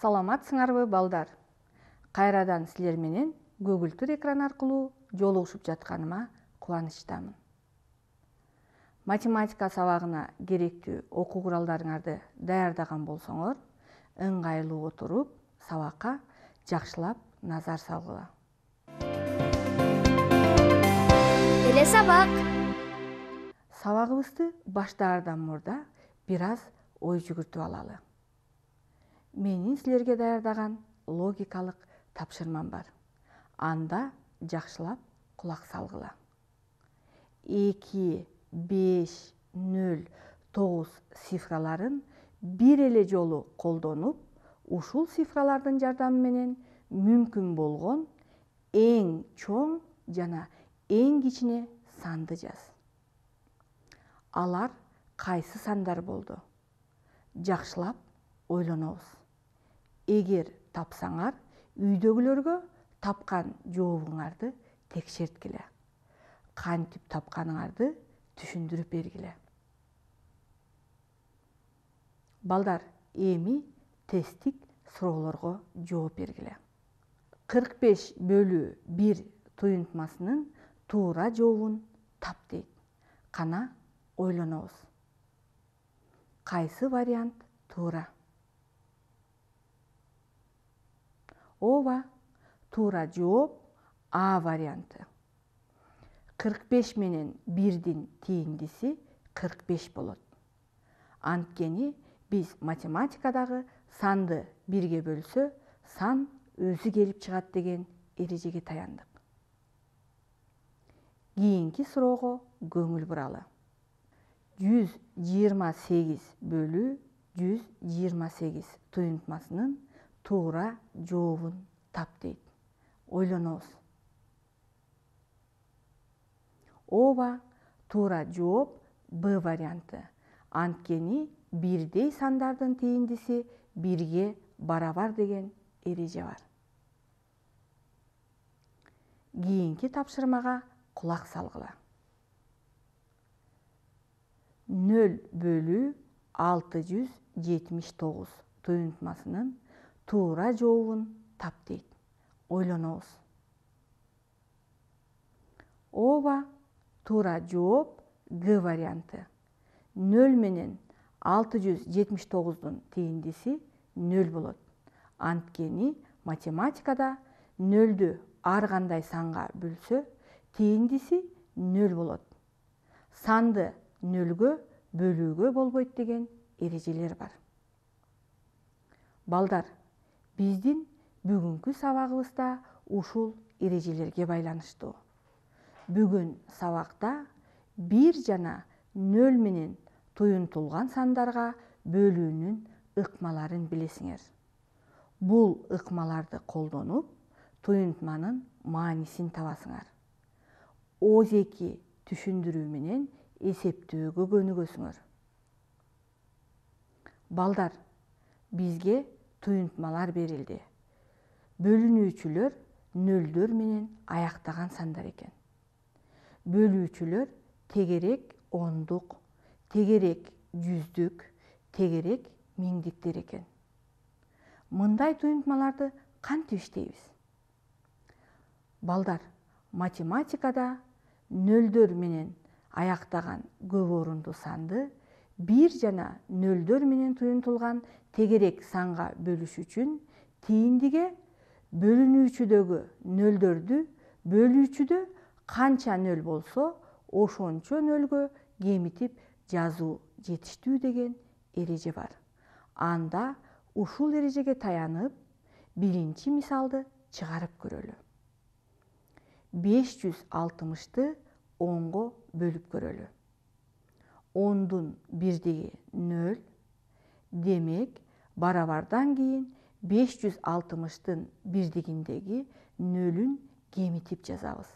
Саламатсыңарбы балдар? Кайрадан силер менен көгүлтүр экран аркылуу жолугушуп жатканыма кубанычтамын. Математика сабагына керектүү окуу куралдарыңарды даярдаган болсоңор, ыңгайлуу отуруп, сабакка жакшылап назар салгыла. Эле сабак. Сабагыбызды баштаардан мурда бир аз ой жүгүртүп алалы. Менин силерге даярдаган логикалык тапшырмам бар. Анда жакшылап кулак салгыла. 2, 5, 0, 9 цифраларын бир эле жолу колдонуп, ушул цифралардын жардамы менен мүмкүн болгон эң чоң жана эң кичине санды жаз. Алар кайсы сандар болду? Жакшылап ойлонобуз. Эгер тапсаңар, үйдөгүлөргө тапкан жообуңарды текшерткиле. Кантип тапканыңарды түшүндүрүп бергиле. Балдар, эми тесттик суроолорго жооп бергиле. 45/1 туюнтмасынын туура жообун тап дейт. Кана ойлонобуз. Кайсы вариант туура? Ооба, туура жооп А варианты. 45 менен 1дин тээндиси 45 болот. Анткени биз математикадагы санды бирге бөлсө, сан өзү келип чыгат деген эрежеге таяндык. Кийинки суроого көңүл буралы. 128/128 туюнтмасынын туура жообун тап дейт. Ойлонобуз. Ооба, туура жооп Б варианты. Анткени бирдей сандардын тээндиси бирге барабар деген эреже бар. Кийинки тапшырмага кулак салгыла. 0/679 туюнтмасынын туура жообун тап дейт. Ойлонобуз. Ооба, туура жооп Г варианты. 0 менен 679дун тээндиси 0 болот. Анткени математикада 0дү ар кандай санга бөлсө, тээндиси 0 болот. Санды 0гө бөлүүгө болбойт деген эрежелер бар. Балдар, биздин бүгүнкү сабагыбызда ушул эрежелерге байланыштуу. Бүгүн сабакта 1 жана 0 менен туюнтулган сандарга бөлүүнүн ыкмаларын билесиңер. Бул ыкмаларды колдонуп, туюнтманын маанисин табасыңар. Ооз-2 түшүндүрүү менен эсептөөгө көнүгөсүңөр. Балдар, бизге туюнтмалар берилди. Бөлүнүүчүлөр нөлдөр менен аяктаган сандар экен. Бөлүүчүлөр тегерек ондук, тегерек жүздүк, тегерек миңдиктер экен. Мындай туюнтмаларды кантип иштейбиз? Балдар, математикада нөлдөр менен аяктаган көп орунду санды 1 жана нөлдөр менен туюнтулган тегерек санга бөлүш үчүн тээндиге бөлүнүүчүдөгү нөлдөрдү бөлүүчүдө канча нөл болсо, ошончо нөлгө кемитип жазуу жетиштүү деген эреже бар. Анда ушул эрежеге таянып, биринчи мисалды чыгарып көрөлү. 560ты 10го бөлүп көрөлү. 10дун бирдиги 0, демек барабардан кийин 560тын бирдигиндеги 0-ün кемитип жазабыз.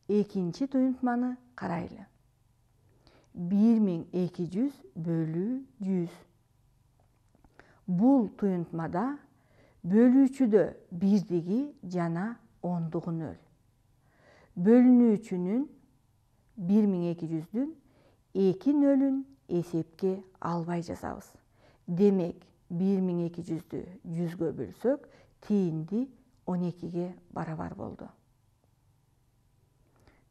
Экинчи туюнтманы карайлы. 1200/100. Бул туюнтмада бөлүүчүдө бирдиги жана ондугу 0. Бөлүнүүчүнүн 1200дүн 2 0-ün эсепке албай жазабыз. Демек 1200'dü 100'gө bөлсөк, тиинди 12'ге барабар болду.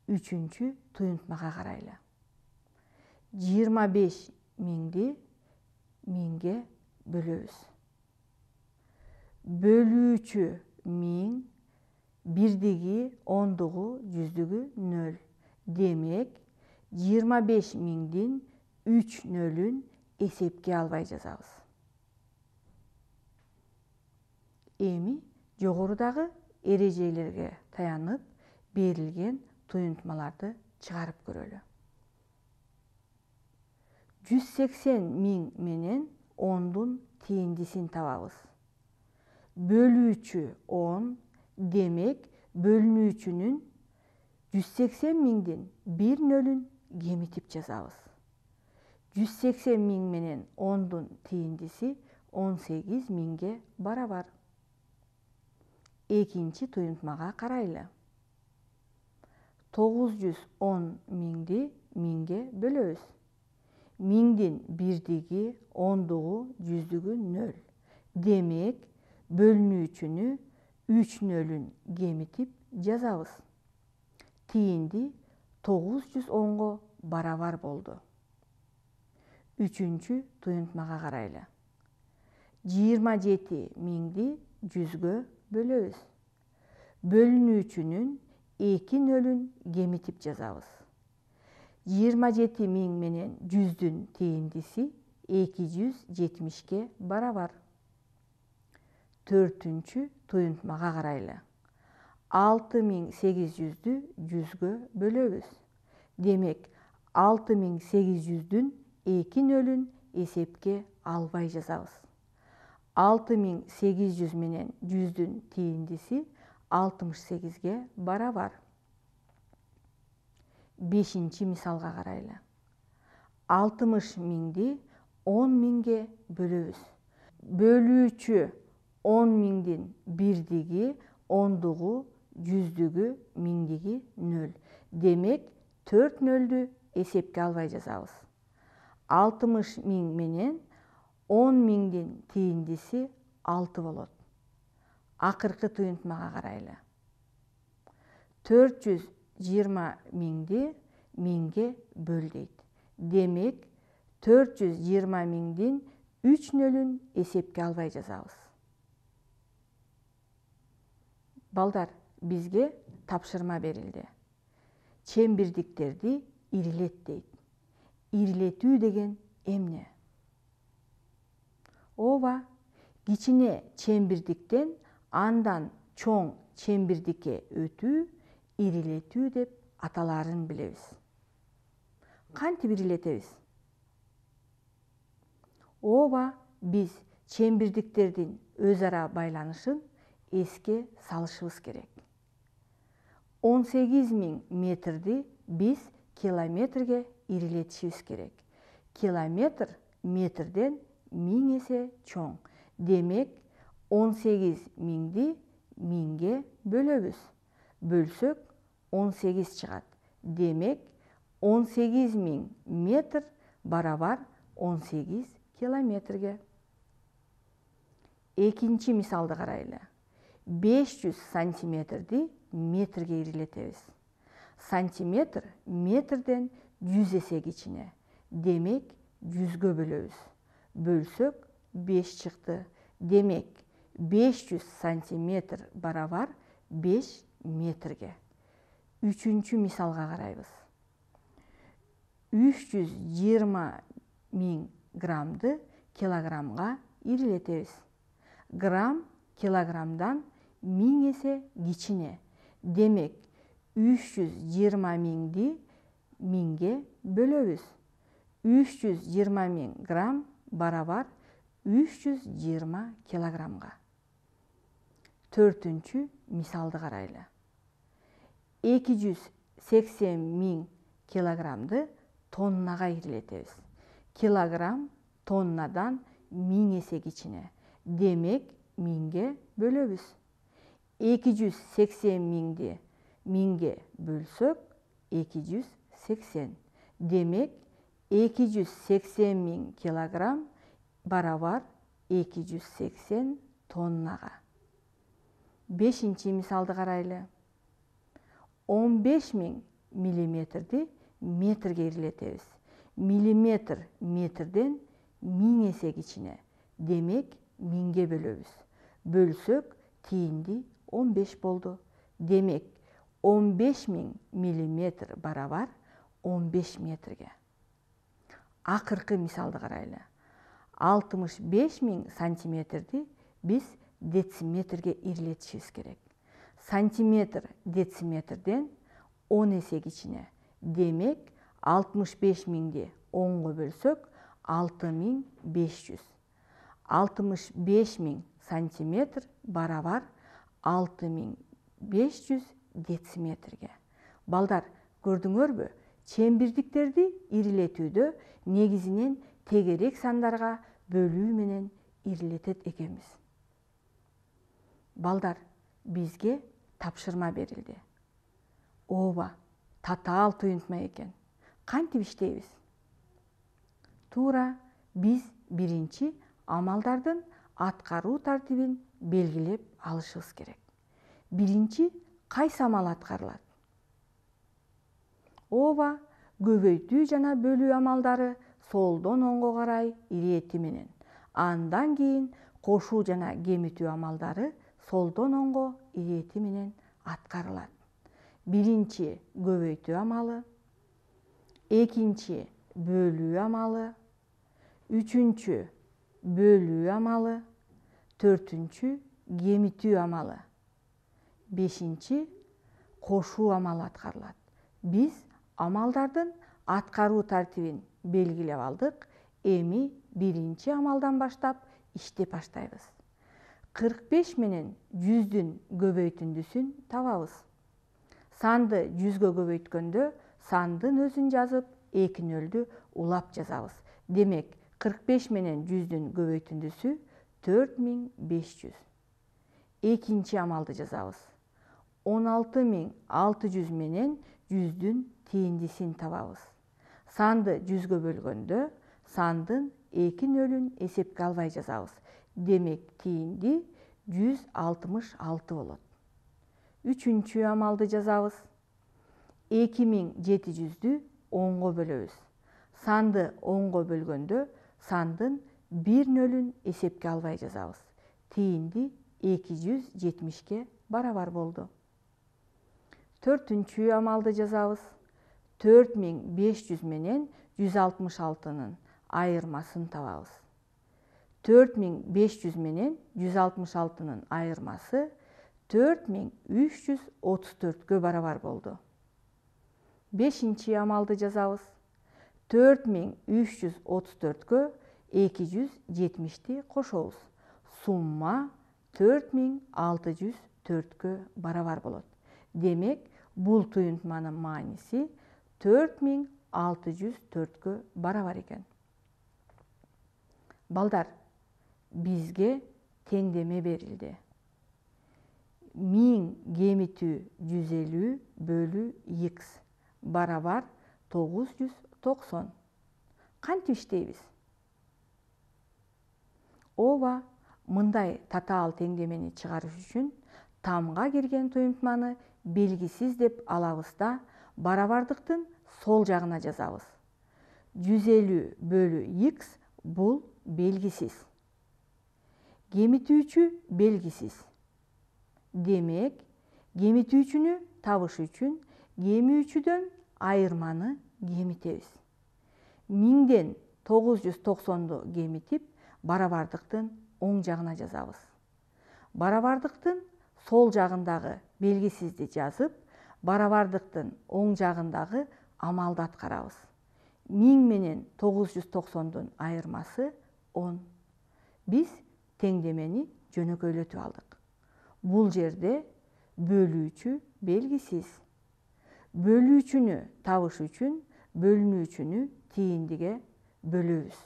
Үчүнчү туюнтмага карайлы. 25.000'ди 1000'ге бөлөбүз. Бөлүүчү 1000, бирдиги, ондугу, жүздүгү 0. Демек, 25.000'дин 3 нөлүн эсепке албай жазабыз. Эми жогорудагы эрежелерге таянып, берилген туюнтмаларды чыгарып көрөлү. 180.000 менен 10'дун тииндисин табабыз. Бөлүүчү 10, демек бөлүнүүчүнүн 180.000'дин 1 нөлүн кемитип жазабыз. 180.000 менен 10'дун тииндиси 18.000'ге барабар. Экинчи туюнтмага карайлы. 910.000'ди 1000'ге бөлөбүз. 1000'дин бирдиги, ондугу, жүздүгү 0. Демек, бөлүнүүчүнү 3 нөлүн кемитип жазабыз. Тиинди 910'го барабар болду. Үчүнчү туюнтмага карайлы. 27.000'ди 100'гө бөлөбүз. Бөлүнүүчүнүн 2 нөлүн кемитип жазабыз. 27.000 менен 100'дүн тииндиси 270'ке барабар. Төртүнчү туюнтмага карайлы. 6.800'дү 100'гө бөлөбүз. Демек, 6.800'дүн 2 нөлүн эсепке албай жазабыз. 6.800 менен 100'дүн тииндиси 68'ге барабар. Бешинчи мисалга карайлы. 60.000'ди 10.000'ге бөлөбүз. Бөлүүчү 10.000'дин бирдиги, ондугу, жүздүгү, миңдиги 0. Демек, 4 нөлдү эсепке албай жазабыз. 60.000 менен 10.000'дин тииндиси 6 болот. Акыркы туюнтмага карайлы. 420.000'ди 1000'ге бөл дейт. Демек, 420.000'дин 3 нөлүн эсепке албай жазабыз. Балдар, бизге тапшырма берилди. Чембирдиктерди ирилет дейт. Ирилетүү деген эмне? Ооба, кичине чембирдиктен андан чоң чембирдикке өтүү ирилетүү деп аталаарын билебиз. Кантип ирилетебиз? Ооба, биз чембирдиктердин өз ара байланышын эске салышыбыз керек. 18.000 метрди биз километрге ирилетишибиз керек. Километр метрден 1000 эсе чоң. Демек, 18.000'ди 1000'ге бөлөбүз. Бөлсөк, 18 чыгат. Демек, 18.000 метр барабар 18 километрге. Экинчи мисалды карайлы. 500 сантиметрди метрге ирилетебиз. Сантиметр метрден 100 эсе кичине. Демек, 100'гө бөлөбүз. Бөлсөк, 5 чыкты. Демек, 500 сантиметр барабар 5 метрге. Үчүнчү мисалга карайбыз. 320.000 граммды килограммга ирилетебиз. Грамм килограммдан 1000 эсе кичине. Демек, 320.000'ди 1000'ге бөлөбүз. 320.000 грамм барабар 320 килограммга. Төртүнчү мисалды карайлы. 280.000 килограммды тоннага ирилетебиз. Килограмм тоннадан 1000 эсе кичине. Демек, 1000'ге бөлөбүз. 280.000'ди 1000'ге бөлсөк, 280. Демек, 280.000 килограмм барабар 280 тоннага. 5-чи мисалды карайлы. 15.000 миллиметрди метрге ирилетебиз. Миллиметр метрден 1000 эсе кичине. Демек, 1000ге бөлөбүз. Бөлсөк, тиинди 15 болду. Демек, 15.000 миллиметр барабар 15 метрге. Акыркы мисалды карайлы. 65.000 сантиметрди биз дециметрге ирилетишибиз керек. Сантиметр дециметрден 10 эсе кичине. Демек, 65.000ди 10го бөлсөк, 6500. 65.000 сантиметр барабар 6500 дециметрге. Балдар, көрдүңөрбү? Чембирдиктерди ирилетүүдө негизинен тегерек сандарга бөлүү менен ирилетет экенбиз. Балдар, бизге тапшырма берилди. Ооба, татаал туюнтма экен. Кантип иштейбиз? Туура биз биринчи амалдардын аткаруу тартибин белгилеп алышыбыз керек. Биринчи кайсы амал аткарылат? Ооба, көбөйтүү жана бөлүү амалдары солдон оңго карай ирети менен. Андан кийин кошуу жана кемитүү амалдары солдон оңго ирети менен аткарылат. Биринчи көбөйтүү амалы, экинчи бөлүү амалы, үчүнчү бөлүү амалы, төртүнчү кемитүү амалы, бешинчи кошуу амалы аткарылат. Биз амалдардын аткаруу тартибин белгилеп алдык. Эми биринчи амалдан баштап иштеп баштайбыз. 45 менен 100дүн көбөйтүндүсүн табабыз. Санды 100гө көбөйткөндө сандын өзүн жазып, 2 улап жазабыз. Демек, 45 менен 100дүн көбөйтүндүсү 4500. Экинчи амалды жазабыз. 16600 менен 100дүн тииндисин табабыз. Санды 100гө бөлгөндө сандын 2 эсепке албай жазабыз. Демек, тиинди 166 болот. Үчүнчү амалды жазабыз. 2700дү 10го бөлөбүз. Санды 10го бөлгөндө сандын 1 эсепке албай жазабыз. Тиинди 270ке барабар болду. Төртүнчү амалды жазабыз. 4500 менен 166нын айырмасын табабыз. 4500 менен 166нын айырмасы 4334кө барабар болду. Бешинчи амалды жазабыз. 4334кө 270ти кошобуз. Сумма 4604кө барабар болот. Демек, бул туюнтманын мааниси 4604кө барабар экен. Балдар, бизге теңдеме берилди. 1000 кемитүү 150 бөлүү x барабар 990. Кантип иштейбиз? Ооба, мындай татаал теңдемени чыгарыш үчүн тамга кирген туюнтманы белгисиз деп алабыз да, барабардыктын сол жагына жазабыз. 150 бөлүү x бул белгисиз. Кемитүүчү белгисиз. Демек, кемитүүчүнү табыш үчүн кемүүчүдөн айырманы кемитебиз. 1000ден 990ду кемитип, барабардыктын оң жагына жазабыз. Барабардыктын сол жагындагы белгисизди жазып, барабардыктын оң жагындагы амалды аткарабыз. 1000 менен 990дун айырмасы 10. Биз теңдемени жөнөкөйлөтүп алдык. Бул жерде бөлүүчү белгисиз. Бөлүүчүнү табыш үчүн бөлүнүүчүнү тииндиге бөлөбүз.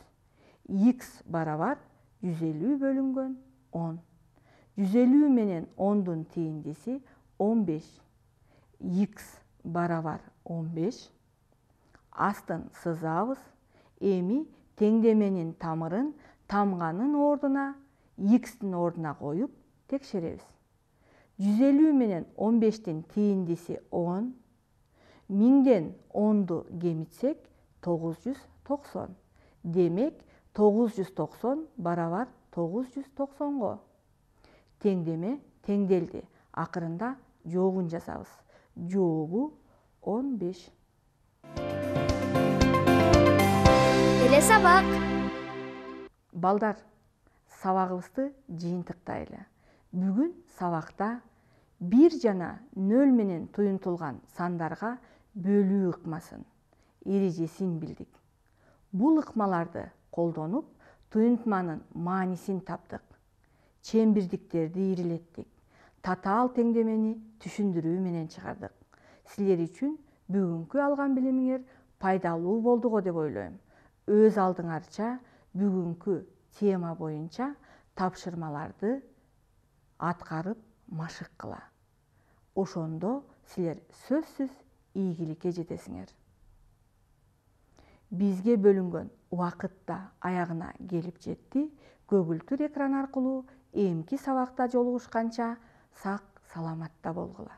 X барабар 150 бөлүнгөн 10. 150 менен 10дун тииндиси 15. X барабар 15. Астын сызабыз. Эми теңдеменин тамырын тамганын ордуна x'тин ордуна коюп текшеребиз. 150 менен 15-тин тийиндиси 10, 1000ден 10ду кемитсек 990. Демек 990 барабар 990го. Теңдеме теңделди. Акырында жообун жазабыз. Жообу 15. Эле сабак. Балдар, сабагыбызды жыйынтыктайлы. Бүгүн сабакта 1 жана 0 менен туюнтулган сандарга бөлүү ыкмасын, эрежесин билдик. Бул ыкмаларды колдонуп, туюнтманын маанисин таптык. Чембирдиктерди ирилеттик. Татаал теңдемени түшүндүрүү менен чыгардык. Силер үчүн бүгүнкү алган билимиңер пайдалуу болду го деп ойлойм. Өз алдыңарча бүгүнкү тема боюнча тапшырмаларды аткарып машык кыла. Ошондо силер сөзсүз ийгиликке жетесиңер. Бизге бөлүнгөн убакыт да аягына келип жетти. Көгүлтүр экран аркылуу эмки сабакта жолугушканча сак саламатта болгула.